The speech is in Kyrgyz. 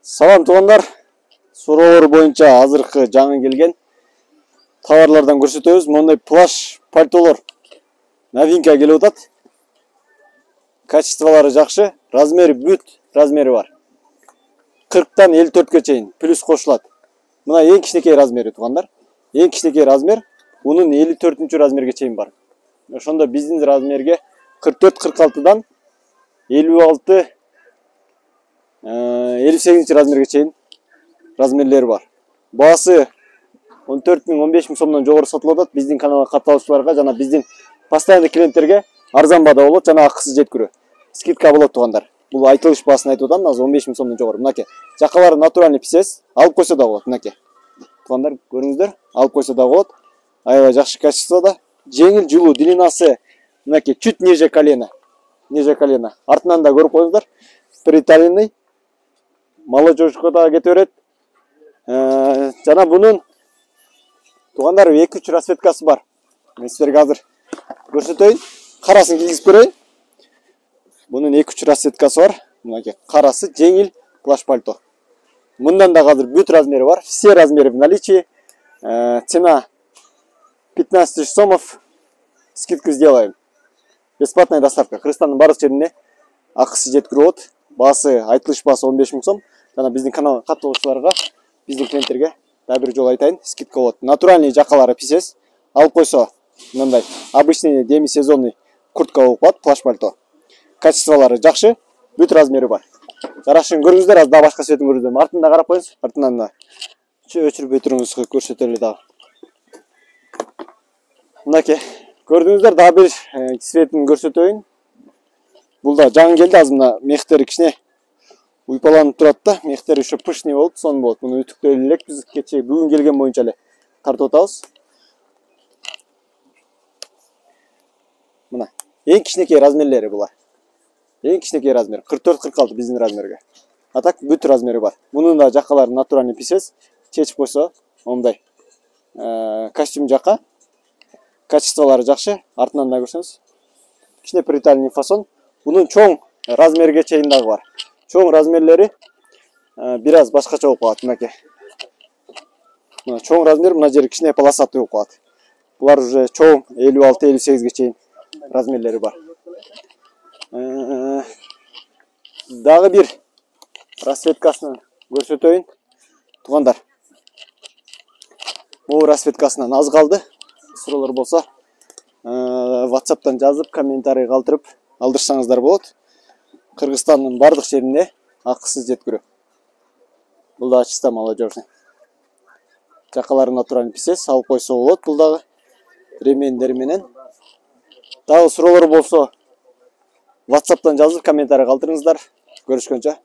Салам туугандар. Суроолор боюнча азыркы жаңы келген товарлардан көрсөтөбүз. Мондай плаш пальтолор новинка келип атат. Качестволары жакшы, размери бүт размери бар. 40тан 54ке чейин плюс кошулат. Мына эң кичинекей размери туугандар. Эң кичинекей размер унун 54-чү размерге чейин бар. Ошондо биздин размерге 44-46дан 56 58 размерге чейин размерлери бар. Баасы 14 000 15 000 сомдон жогору сатылып атат. Биздин каналга катталуучуларга жана биздин постоянный клиенттерге арзан баада болот, жана акысыз жеткирүү. Скидка болот туугандар. Бул айтылыш баасын айтып атам, азыр 15 000 сомдон жогору. Мынакей. Жакалары натуральный писес, алып койсо да болот, мынакей. Туугандар, көрүңүздөр, алып койсо да болот. Аябай жакшы качествода. Жеңил жылуу, длинасы мынакей чуть ниже колена. Ниже колена. Артынан да көрүп коюңуздар. Приталенный. Молодежка да кете берет. Жана бунун туугандар 2-3 расцветкасы бар. Мен силерге азыр көрсөтөйүн. Карасын кийгизип көрөйүн. Бунун 2-3 расцветкасы бар. Мынакей карасы жеңил плаш пальто. Мындан да азыр бүт размери бар. Все размеры в наличии. Цена 15 000 сомов. Скидку сделаем. Бесплатная доставка. Кыргызстандын баардык жерине акысыз жеткирүү болот. Баасы айтылыш баасы 15 000 сом. Жана биздин каналга катталуучуларга, биздин клиенттерге дагы бир жолу айтайын, скидка болот. Натуральный жакалары писес. Алып койсо мындай обычный демисезонный куртка болуп калат, плаш пальто. Качестволары жакшы, бүт размери бар. Жарашын көрүңүздөр, аз да башка светин көрүздөр. Артында карап коюңуз, артынан да өчүрүп өтүрүңүз, көрсөтөлү дагы. Мынакей, көрдүңүздөр, дагы бир светин көрсөтөйүн. Бул да жаңы келди, азыр мына мехтери кичине уйпаланып турат да, мехтери ушу пышный болуп, сон болот. Муну үтүктөй элек биз кечээ бүгүн келген боюнча эле тартып атабыз. Мына эң кичинекей размерлери булар. Эң кичинекей размер 44-46 биздин размерге. А так бүт размери бар. Мунун да жакалары натуральный писес, чечип койсо мондай костюм жака. Качестволары жакшы, артынан да көрсөңүз. Кичине приталенный фасон. Бунун чоң размерге чейин дагы бар. Чоң размерлери бир аз башкача болуп калат, мынакей. Мына чоң размер, мына жери кичине полосатый болуп калат. Булар уже чоң 56-58ге чейин размерлери бар. Дагы бир расцветкасын көрсөтөйүн. Туугандар. Бул расцветкасынан аз калды. Суроолор болсо, WhatsApp'тан жазып, комментарий калтырып алдырсаңыздар болот. Кыргызстандын бардык жерине акысыз жеткирүү. Бул да чисто молодежный. Жакалары натуральный писес, алып койсо болот. Бул дагы ремендери менен. Дагы суроолор болсо WhatsApp'тан жазып, комментарий калтырыңыздар. Көрүшкөнчө.